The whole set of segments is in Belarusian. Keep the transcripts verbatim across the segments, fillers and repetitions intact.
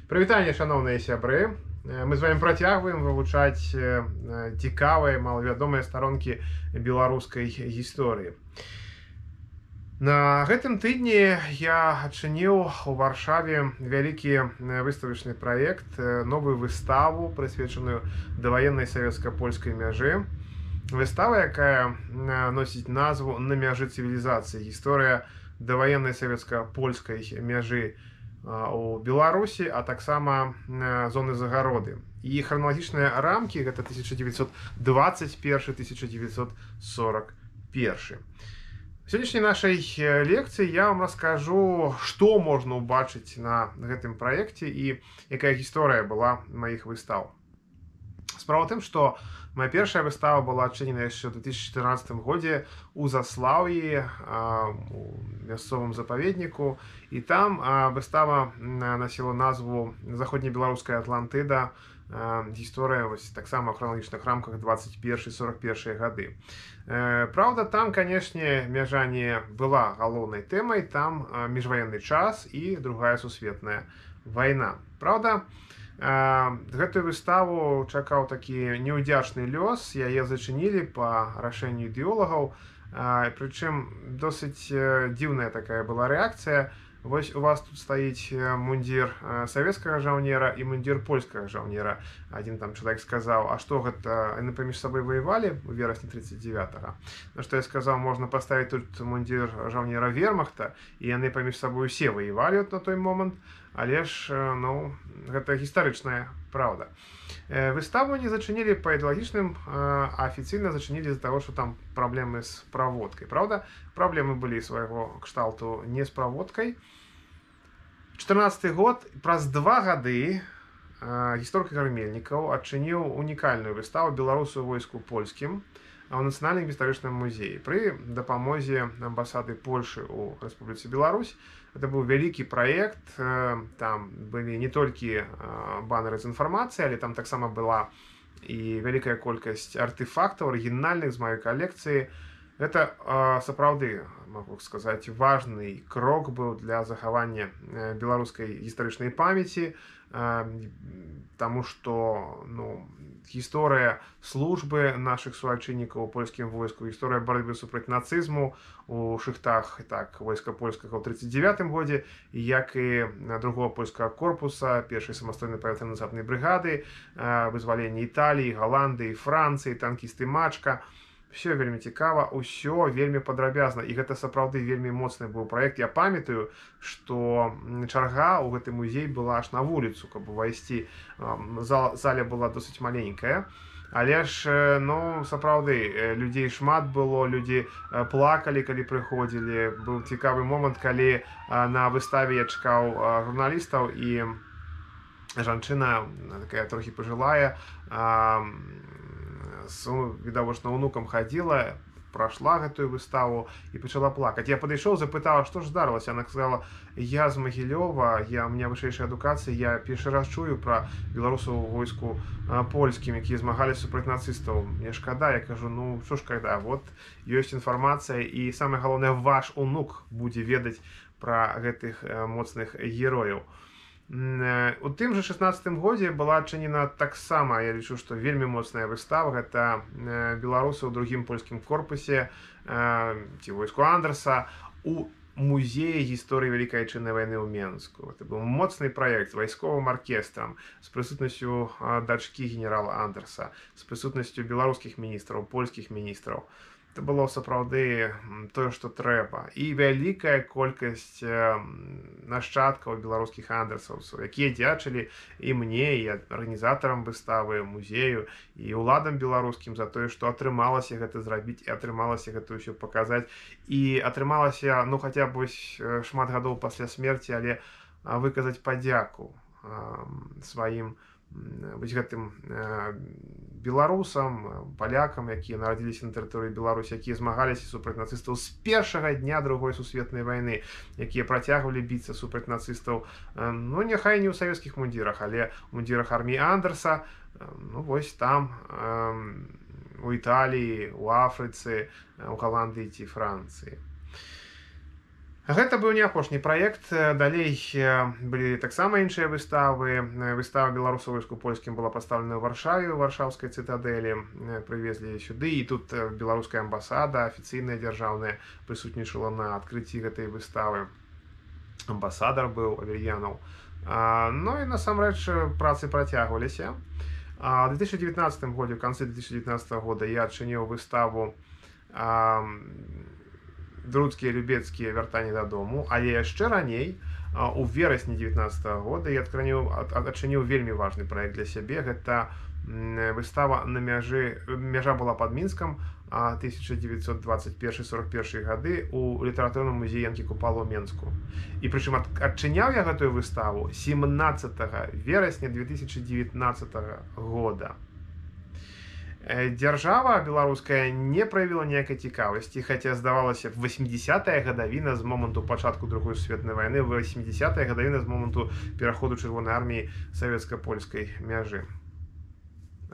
Прывітанне, шаноўныя сябры. Мы з вами працягваем вывучаць цікавыя, малавядомыя старонкі беларускай гісторыі. На гэтым тыдні я адчыніў у Варшаве вялікі выставачны праект, новую выставу, прысвечаную даваеннай савецка-польскай мяжы. Выстава, якая носіць назву «На мяжы цывілізацыі. Гісторыя даваеннай савецка-польскай мяжы у Беларусі, а таксама зоны загароды. І храналагічныя рамкі гэта тысяча девятьсот двадцать першы — тысяча девятьсот сорок першы. В сённяшняй нашай лекцыі я вам раскажу, што можна ўбачыць на гэтым праекце і якая гісторыя была маіх выстаў. Справа ў тым, што моя першая выстава была адчынена яшчэ ў две тысячи чатырнаццатым годзе у Заслаўі, у мясцовым запаведніку, і там выстава насіла назву «Заходнебеларуская Атлантыда. Гісторыя вось таксама ў храналагічных рамках двадцать першы — сорок першы гады». Праўда, там, канешне, мяжа не была галоўнай тэмай, там міжваенны час і другая сусветная вайна. Праўда, гэтую выставу чакаў такі неўдзячны лёс, яе зачынілі па рашэнню ідэолагаў, прычым досыць дзіўная такая была рэакцыя. Вось у вас тут стаіць мундзір савецкага жаўнера і мундзір польскага жаўнера. Адзін там чалавек сказаў: а што гэта, яны паміж сабой ваявалі ў верасні тридцать девятага? На што я сказаў, можна паставіць тут мундзір жаўнера вермахта, і яны паміж сабой усе ваявалі на той момант, але ж, ну, гэта гістарычная праўда. Выставу не зачынілі па ідэалагічным, а афіцыйна зачынілі з-за таго, што там праблемы з праводкай. Праўда, праблемы былі свайго кшталту не з праводкай. чатырнаццаты год, праз два гады, гісторык Гармельнікаў адчыніў унікальную выставу «Беларусы ў войску польскім» ў Нацыянальным гістарычным музеі пры дапамозе амбасады Польшы ў Рэспубліцы Беларусь. Это быў вялікі праект, там былі не толькі баннеры з інфармацыяй, але там таксама была і вялікая колькасць артефактаў арыгінальных з маёй калекцыі. Гэта сапраўды, могу сказаць, важны крок быў для захавання беларускай гістарычнай памяці, таму што, ну, гісторыя службы нашых суайчыннікаў у польскім войску, гісторыя барацьбы супраць нацызму у шыхтах так войска польскага ў тридцать девятым годзе, як і другого польскага корпуса, першай самастойнай павітрана-насаднай брыгады, вызваленне Італіі, Галандыі, Францыі, танкісты Мачка. Все вельмі цікава, усё вельмі падрабязна, і гэта сапраўды вельмі моцны быў праект. Я памятаю, што чарга ў гэты музей была аж на вуліцу, каб увайсці. Заля была досыць маленькая, але ж, ну, сапраўды, людзей шмат было, людзі плакалі, калі прыходзілі. Быў цікавы момант, калі на выставе я чакаў журналістаў, і жанчына, такая трохі пажылая, відавочна унукам хадзіла, прайшла гэтую выставу і пачала плакаць. Я падышоў, запытаў, што ж здарылася. Яна сказала: я з Магілёва, я, у меня вышэйшая адукацыя, я першы раз чую пра беларусаў у войску польскім, якія змагаліся супраць нацыстаў. Мне шкада. Я кажу: ну, што ж када, вот ёсць інфармацыя, і самае галоўнае, ваш унук будзе ведаць пра гэтых моцных герояў. У тым жа шаснаццатым годзе была адчынена таксама, я лічу, што вельмі моцная выстава. Гэта беларусы ў другім польскім корпусе ці войску Андерса у музеі гісторыі Вялікай Айчыннай вайны ў Менску. Это быў моцны праект з вайсковым аркестрам, з прысутнасцю дачкі генерала Андерса, з прысутнасцю беларускіх міністраў, польскіх міністраў. Это было сапраўды тое, што трэба. І вялікая колькасць нашчадкаў беларускіх андерсаўцаў, якія дзячылі і мне, і арганізатарам выставы, музею, і ўладам беларускім за тое, што атрымалася гэта зрабіць, і атрымалася гэта ўсё паказаць. І атрымалася, ну, хаця б вось шмат гадоў пасля смерці, але выказаць падзяку сваім вось гэтым беларусам, палякам, якія нарадзіліся на тэрыторыі Беларусі, якія змагаліся супраць нацыстаў з першага дня другой сусветнай вайны, якія працягвалі біцца супраць нацыстаў, ну, няхай не ў савецкіх мундзірах, але ў мундзірах арміі Андерса, ну, вось там, у Італіі, у Афрыцы, у Галандыі ці Францыі. Гэта быў не апошні праект. Далей былі таксама іншыя выставы. Выстава беларусаў войску-польскім была пастаўлена ў Варшаве, у варшаўскай цытадэлі. Прывезлі сюды, і тут беларуская амбасада, афіцыйная дзяржаўная, прысутнічала на адкрыцці гэтай выставы. Амбасадар быў Аверьянаў. Ну і насамрэч працы працягваліся. У две тысячи девятнадцатым годзе, у канцы две тысячи девятнадцатого года я адчыніў выставу «Друцкія любецкія вяртанні дадому», але яшчэ раней, у верасні девятнадцатого года, я адчыніў вельмі важны праект для сябе. Гэта выстава на мяжы, мяжа была пад Мінскам, тысяча девятьсот двадцать первый — сорок первый гады у літаратурным музеі Янкі Купала ў Менску. І прычым адчыняў я гэтую выставу семнадцатого верасня две тысячи девятнадцатого года. Дзяржава беларуская не праявіла ніякай цікавасці, хаця здавалася б восьмидесятая гадавіна з моманту пачатку другой сусветнай вайны, восьмидесятая гадавіна з моманту пераходу чырвонай арміі савецка-польскай мяжы.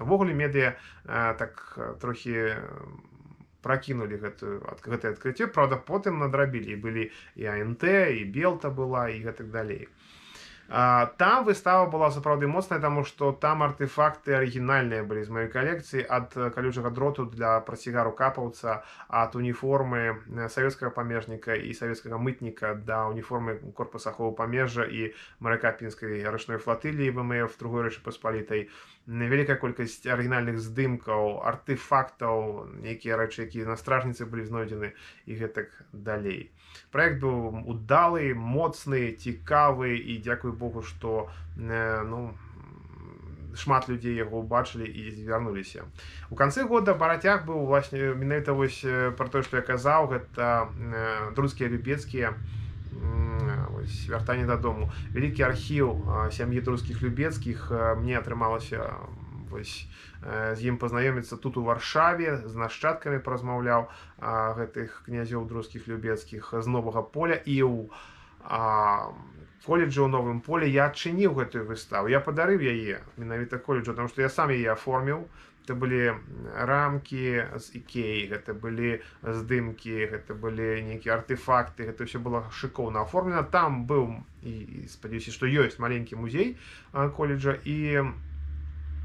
Увогуле медыа так трохі пракінулі гэтае адкрыццё, правда, потым надрабілі. Былі і АНТ, і Белта была, і гэтак далей. Там выстава была сапраўды моцная, таму што там артефакты арыгінальныя былі з маёй калекцыі, ад калючага дроту для працягару капаўца, ад уніформы савецкага памежніка і савецкага мытніка да уніформы корпуса аховы памежжа і марака пінскай рачной флатыліі ВМФ другой Рэчы Паспалітай. Вялікая колькасць арыгінальных здымкаў, артефактаў, нейкія рэчы, якія на стражніцы былі знойдзены і гэтак далей. Праект быў удалы, моцны, цікавы, і дзякуй Богу, што ну, шмат людзей яго ўбачылі і звярнуліся. У канцы года барацяг быў менавіта вось пра тое, што я казаў, гэта друцкія любецкія вяртанні дадому. Вялікі архіў сям'і друцкіх любецкіх. Мне атрымалася з ім пазнаёміцца тут у Варшаве, з нашчадкамі паразмаўляў гэтых князёў друцкіх любецкіх з Новага Поля, і ў коледжы ў Новым Полі я адчыніў гэтую выставу. Я падарыў яе менавіта коледжу, таму што я сам яе аформіў. Гэта былі рамкі з Ікеі, гэта былі здымкі, гэта былі нейкія артефакты, гэта ўсё было шыкоўна аформлена. Там быў, і спадзяюся, што ёсць маленькі музей коледжа, і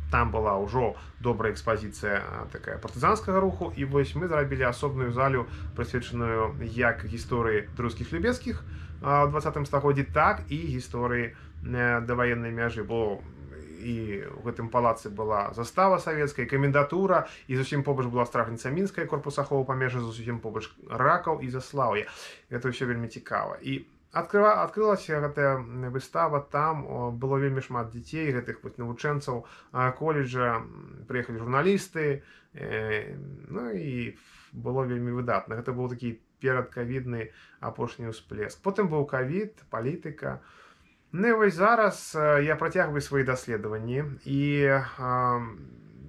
там была ўжо добрая экспазіцыя такая партызанскага руху. І вось мы зрабілі асобную залю, прысвечаную як гісторыі друцкіх любецкіх у двадцатым стагоддзі, так і гісторыі даваеннай мяжы. Бо і ў гэтым палацы была застава савецкая, камендатура, і зусім побач была стражніца мінская, корпус аховы памежжа, зусім побач Ракаў і Заслаўе. Гэта ўсё вельмі цікава. І адкрылася гэтая выстава, там было вельмі шмат дзяцей, гэтых навучэнцаў коледжа, прыехалі журналісты, ну і было вельмі выдатна. Гэта быў такі перадкавідны апошні ўсплеск. Потым быў кавід, палітыка. Ну і вось зараз я працягваю свае даследаванні, і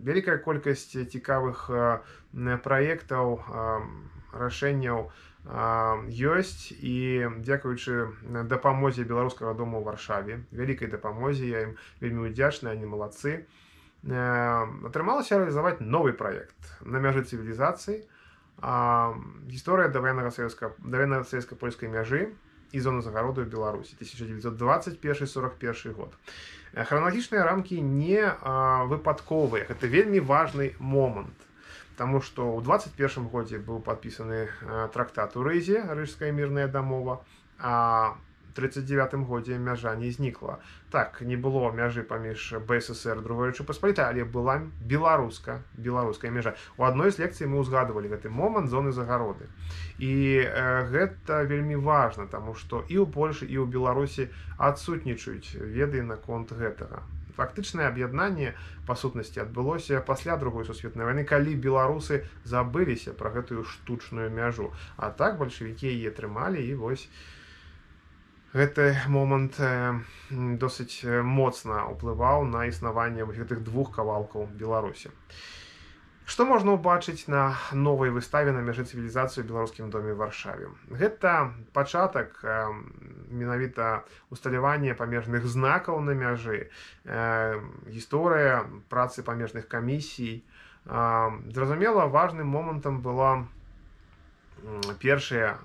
вялікая колькасць цікавых праектаў, рашэнняў ёсць, і дзякуючы дапамозе беларускага дома ў Варшаве, вялікай дапамозе, я ім вельмі ўдзячны, они малацы, атрымалася рэалізаваць новы праект на мяжы цывілізацыі, гісторыя даваеннага савецка-польскай мяжы і зоны загароду ў Беларусі, тысяча девятьсот двадцать первый — сорок первый год. Храналагічныя рамкі не выпадковыя, гэта вельмі важны момант, таму што ў двадцать первым годзе быў падпісаны трактат у Рызе, Рыжская мірная дамова, а у тридцать девятым годзе мяжа не знікла. Так, не было мяжы паміж БССР другой Рэчы Паспалітай, але была беларуска, беларуская мяжа. У адной з лекцый мы ўзгадвалі гэты момант зоны загароды. І э, гэта вельмі важна, таму што і ў Польшы, і ў Беларусі адсутнічаюць веды наконт гэтага. Фактычнае аб'яднанне, па сутнасці, адбылося пасля другой сусветнай вайны, калі беларусы забыліся пра гэтую штучную мяжу. А так бальшавікі яе трымалі, і вось гэты момант досыць моцна ўплываў на існаванне гэтых двух кавалкаў Беларусі. Што можна ўбачыць на новай выставе на мяжы цывілізацыі ў беларускім доме ў Варшаве? Гэта пачатак менавіта усталявання памежных знакаў на мяжы, гісторыя працы памежных камісій. Зразумела, важным момантам была першая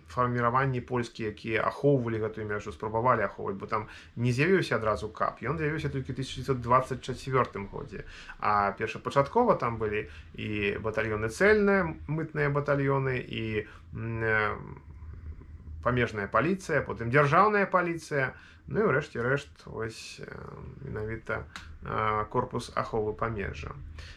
фарміраванні польскія, якія ахоўвалі гэтую мяжу, спрабавалі ахоўваць, бо там не з'явіўся адразу кап, ён з'явіўся толькі ў тысяча дзевяцьсот двадцать чацвёртым годзе. А першапачаткова там былі і батальёны цэльныя, мытныя батальёны, і памежная паліцыя, потым дзяржаўная паліцыя, ну і ўрэшце рэшт вось менавіта корпус аховы памежжа.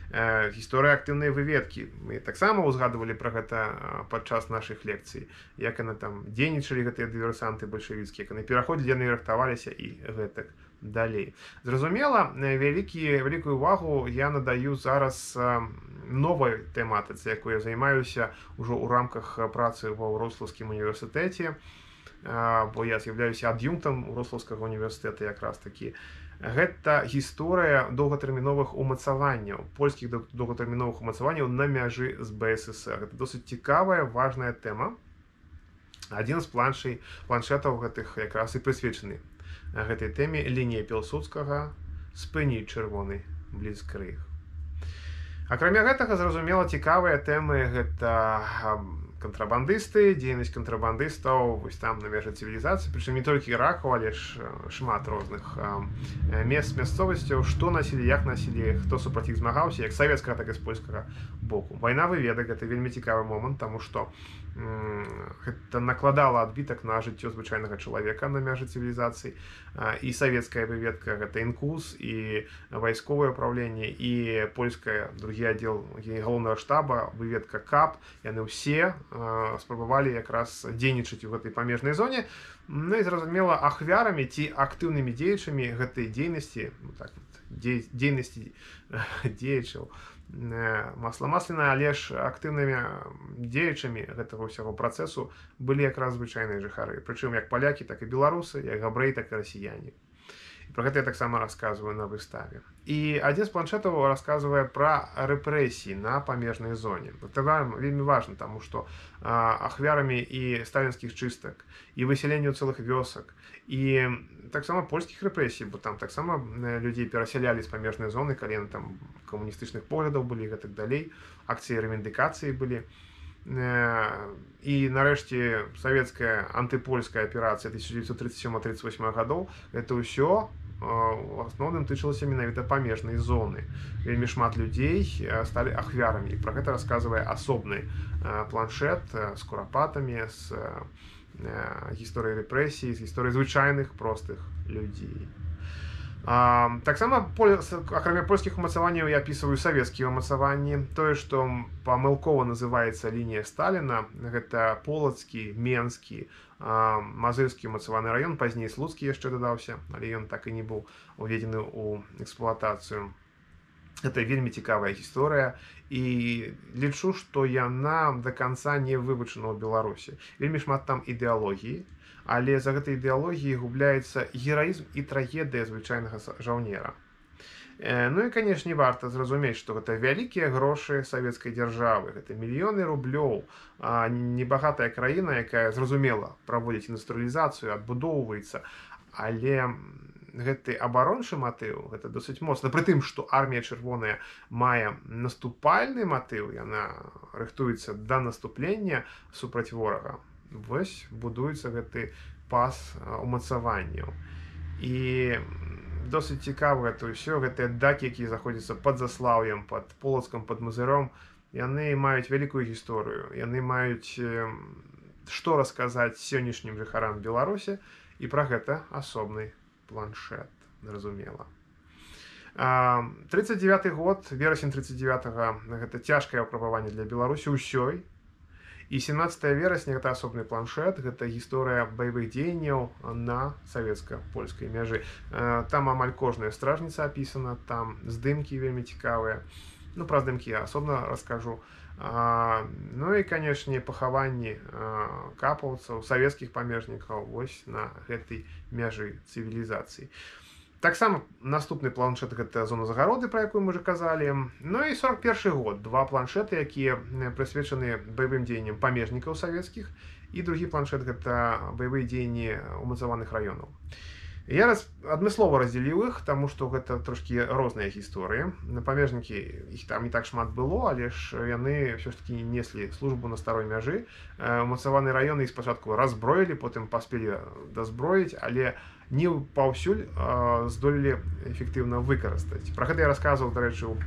Гісторыя актыўнай выведкі. Мы таксама ўзгадывалі пра гэта падчас нашых лекцый, як яны там дзейнічалі, гэтыя дыверсанты бальшавіцкія, як яны пераходзілі, яны рыхтаваліся і гэтак далей. Зразумела, вялікі, вялікую увагу я надаю зараз новай тэматыцы, якой я займаюся ўжо ў рамках працы ва Вроцлаўскім універсітэце, бо я з'яўляюся ад'юнктам Вроцлаўскага універсітэта якраз такі. Гэта гісторыя доўгатэрміновых умацаванняў, польскіх доўгатэрміновых умацаванняў на мяжы з БССР. Гэта досыць цікавая, важная тэма. Адзін з планшей, планшетаў гэтых якраз і прысвечаны гэтай тэме лінія Пілсудскага «Спыніць чырвоны бліцкрыг». Акрамя гэтага, зразумела, цікавыя тэмы гэта кантрабандысты, дзейнасць кантрабандыстаў вось там на мяжы цывілізацыі, прычым не толькі Рахаў, але ж шмат розных мест, мясцовасцяў, што насілі, як насілі, хто супраць іх змагаўся, як савецкага, так і з польскага боку. Вайна выведак — гэта вельмі цікавы момант, таму што гэта накладала адбітак на жыццё звычайнага чалавека на мяжы цывілізацыі. І савецкая выведка — гэта інкус, і вайсковае ўпраўленне, і польская, другі аддзел галоўнага штаба, выведка кап, яны ўсе спрабавалі якраз дзейнічаць у гэтай памежнай зоне. Ну і зразумела, ахвярамі ці актыўнымі дзеячамі гэтай дзейнасці, ну так, дзейнасці дзеячаў, масла масляна, але ж актыўнымі дзеячамі гэтага ўсяго працэсу былі якраз звычайныя жыхары. Прычым як палякі, так і беларусы, як габрэі, так і расіяне. І пра гэта я таксама расказваю на выставе. І адзін з планшетаў расказвае пра рэпрэсіі на памежнай зоне. Гэта вельмі важна, таму што ахвярамі і сталінскіх чыстак, і высяленню цэлых вёсак, і таксама польскіх рэпрэсій, бо там таксама людзей перасялялі з памежнай зоны, калі яны там камуністычных поглядаў былі і гэтак далей, акцыі рэвендыкацыі былі. І нарэшце савецкая антыпольская аперацыя тысяча дзевяцьсот тридцать сёмага — тридцать восьмага гадоў, гэта ўсё у асноўным тычылася менавіта памежнай зоны. Вельмі шмат людзей сталі ахвярамі. Пра гэта расказвае асобны планшет з курапатамі, з гісторыяй рэпрэсій, з гісторыяй звычайных простых людзей. Таксама, акрамя польскіх умацаванняў, я апісваю савецкія умацаванні. Тое, што памылкова называецца лінія Сталіна, гэта полацкі, менскі, мазырскі умацаваны раён, пазней слуцкі яшчэ дадаўся, але ён так і не быў уведзены ў эксплуатацыю. Гэта вельмі цікавая гісторыя, і лічу, што яна да канца не вывучана ў Беларусі. Вельмі шмат там ідэалогіі, але за гэтай ідэалогіяй губляецца гераізм і трагедыя звычайнага жаўнера. Ну і, канешне, варта зразумець, што гэта вялікія грошы савецкай дзяржавы, гэта мільёны рублёў, небагатая краіна, якая, зразумела, праводзіць індустрыялізацыю, адбудоўваецца, але гэты абарончы матыў, гэта досыць моцна. Пры тым, што армія чырвоная мае наступальны матыў, яна рыхтуецца да наступлення супраць ворага. Вось будуецца гэты пас умацаванняў. І досыць цікава гэта ўсё, гэтыя дакі, якія заходзяцца пад Заслаўем, пад Полацкам, пад Мазыром, яны маюць вялікую гісторыю. Яны маюць што расказаць сённяшнім жыхарам Беларусі, і пра гэта асобны планшет, зразумела. тридцать девяты год, верасень тридцать девятага, гэта цяжкае выпрабаванне для Беларусі ўсёй. І семнадцатага верасня гэта асобны планшет, гэта гісторыя баявых дзеянняў на савецка-польскай мяжы. Там амаль кожная стражніца апісана, там здымкі вельмі цікавыя. Ну, пра здымкі я асобна раскажу. Ну і, канешне, пахаванні капаўцаў, савецкіх памежнікаў вось на гэтай мяжы цывілізацыі. Таксама наступны планшет — гэта зона загароды, пра якую мы ўжо казалі. Ну і сорок першы год, два планшеты, якія прысвечаны баявым дзеянням памежнікаў савецкіх, і другі планшет — гэта баявыя дзеянні умацаваных раёнаў. Я раз адмыслова раздзяліў іх, таму што гэта трошкі розныя гісторыі. Памежнікі, іх там не так шмат было, але ж яны ўсё ж такі неслі службу на старой мяжы. Умацаваныя раёны іх спачатку разброілі, потым паспелі дазброіць, але не паўсюль здолелі эфектыўна выкарыстаць. Пра гэта я расказваў, дарэчы, у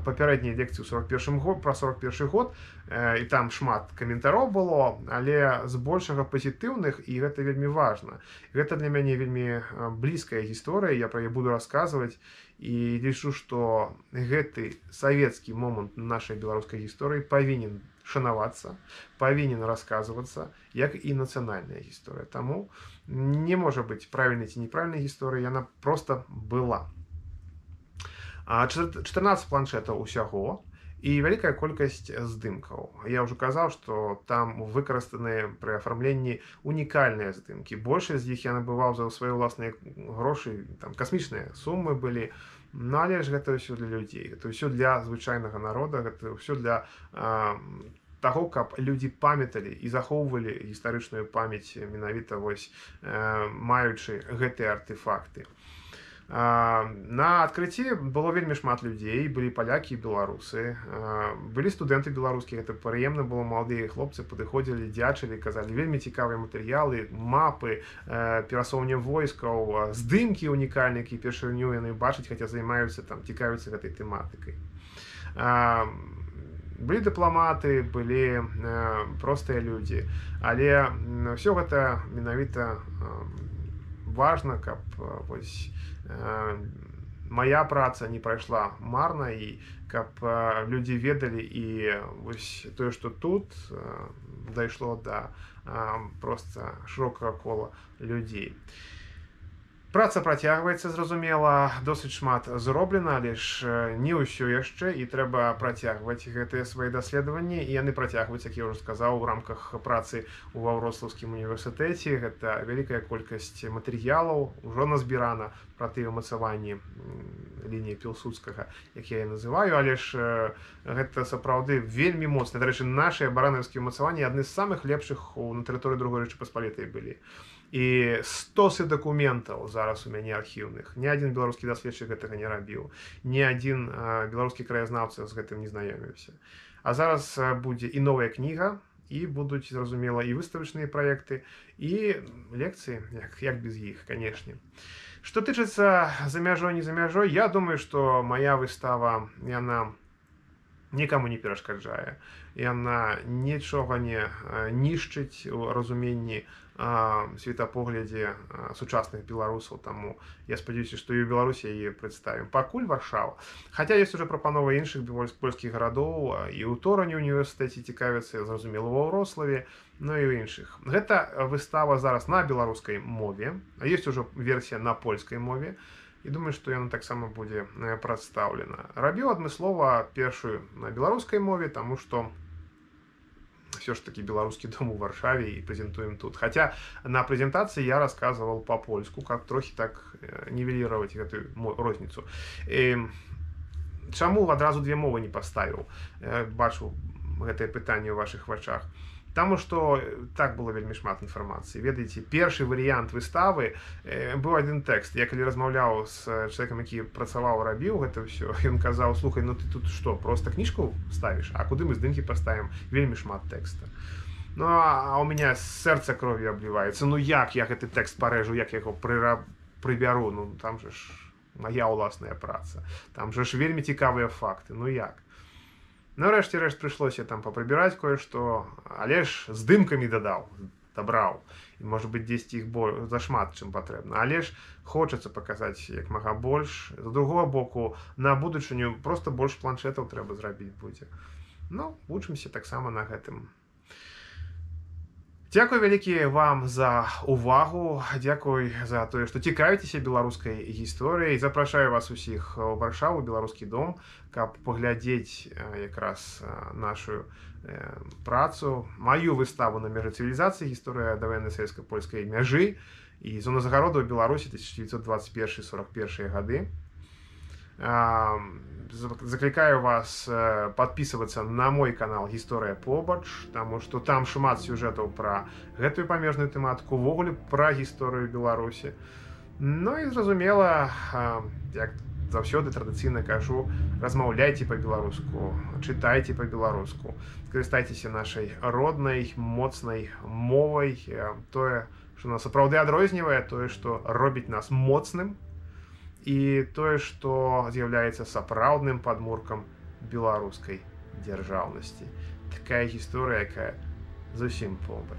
папярэдняй лекцыі ў сорок першым год, пра сорок першы год, і там шмат каментароў было, але збольшага пазітыўных, і гэта вельмі важна. Гэта для мяне вельмі блізкая гісторыя, я пра яе буду расказваць, і лічу, што гэты савецкі момант нашай беларускай гісторыі павінен шанавацца, павінен расказвацца, як і нацыянальная гісторыя. Таму не можа быць правільнай ці неправільнай гісторыі, яна проста была. чатырнаццаць планшетаў усяго і вялікая колькасць здымкаў. Я ўжо казаў, што там выкарыстаныя пры афармленні унікальныя здымкі. Большасць з іх я набываў за свае ўласныя грошы, там касмічныя сумы былі. Ну, але ж гэта ўсё для людзей, гэта ўсё для звычайнага народа, гэта ўсё для а, таго, каб людзі памяталі і захоўвалі гістарычную памяць менавіта вось а, маючы гэтыя артефакты. На адкрыцці было вельмі шмат людзей, былі палякі і беларусы, былі студэнты беларускія, гэта прыемна было, маладыя хлопцы падыходзілі, дзячылі, казалі вельмі цікавыя матэрыялы, мапы, перасоўванне войскаў, здымкі унікальныя, якія першыню яны бачаць, хаця займаюцца там, цікавяцца гэтай тэматыкай. Былі дыпламаты, былі простыя людзі, але ўсё гэта менавіта важна, каб вось мая праца не прайшла марна, і каб людзі ведалі, і вось тое, што тут дайшло да проста шырокага кола людзей. Праца працягваецца, зразумела, досыць шмат зроблена, але ж не ўсё яшчэ, і трэба працягваць гэтыя свае даследаванні, і яны працягваюць, як я ўжо сказаў, у рамках працы ў Ваўроцлаўскім універсітэце. Гэта вялікая колькасць матэрыялаў, ужо назбірана пра тыя ўмацаванні лініі Пілсудскага, як я яе называю, але ж гэта сапраўды вельмі моцна. Дарэчы, нашы баранаўскія ўмацаванні адны з самых лепшых на тэрыторыі другой Рэчы Паспалітай былі. І стосы дакументаў зараз у мяне архіўных. Ні адзін беларускі даследчык гэтага не рабіў. Ні адзін беларускі краязнаўца з гэтым не знаёміўся. А зараз будзе і новая кніга, і будуць, зразумела, і выставачныя праекты, і лекцыі, як, як без іх, канешне. Што тычыцца за мяжой, не за мяжой, я думаю, што мая выстава, яна нікому не перашкаджае. Яна нічога не нішчыць у разуменні светапоглядзе сучасных беларусаў, таму я спадзяюся, што і ў Беларусі яе прадставім. Пакуль Варшава. Хаця ёсць ужо прапановы іншых польскіх гарадоў, і ў Торані універсітэце цікавяцца, зразумела, ва Вроцлаве, ну і ў іншых. Гэта выстава зараз на беларускай мове, а ёсць ужо версія на польскай мове, і думаю, што яна таксама будзе прадстаўлена. Рабіў адмыслова першую на беларускай мове, таму што все ж таки беларускі дом у Варшаве, і прэзентуем тут. Хаця на прэзентацыі я расказваў па-польску, каб трохі так нівеліраваць гэтую розніцу. І чаму адразу две мовы не паставіў? Бачу гэтае пытанне ў вашых вачах. Таму што так было вельмі шмат інфармацыі. Ведаеце, першы варыянт выставы быў адзін тэкст. Я калі размаўляў з чалавекам, які працаваў, рабіў гэта ўсё, ён казаў: слухай, ну ты тут што, проста кніжку ставіш, а куды мы здымкі паставім? Вельмі шмат тэкста. Ну, а у меня сэрца кров'ю абліваецца. Ну як я гэты тэкст парэжу, як я яго прыбяру? Ну там же ж мая ўласная праца. Там же ж вельмі цікавыя факты. Ну як? Ну, рэшце рэшт прыйшлося там папрыбіраць кое-што, але ж здымкамі дадаў, дабраў. І, можа быць, дзесьці іх зашмат, чым патрэбна. Але ж хочацца паказаць як мага больш. З другога боку, на будучыню проста больш планшетаў трэба зрабіць будзе. Ну, вучымся таксама на гэтым. Дзякуй вялікі вам за увагу, дзякуй за тое, што цікавіцеся беларускай гісторыяй. Запрашаю вас усіх у Варшаву, беларускі дом, каб паглядзець якраз нашу працу, маю выставу на мяжы цывілізацыі, гісторыя даваеннай савецка-польскай мяжы і зона загароду ў Беларусі тысяча дзевяцьсот дваццаць першы — сорок першыя гады. Закликаю вас подписываться на мой канал Гісторыя побач, потому что там шмат сюжэтаў пра гэтую памежную тэматыку, увогуле пра гісторыю Беларусі. Ну і зразумела, як заўсёды традыцыйна кажу, размаўляйце па-беларуску, чытайце па-беларуску, скарыстайцеся нашай роднай, моцнай мовай, тое, што нас сапраўды адрознівае, тое, што робіць нас моцным, і тое, што з'яўляецца сапраўдным падмуркам беларускай дзяржаўнасці. Такая гісторыя, якая зусім побач.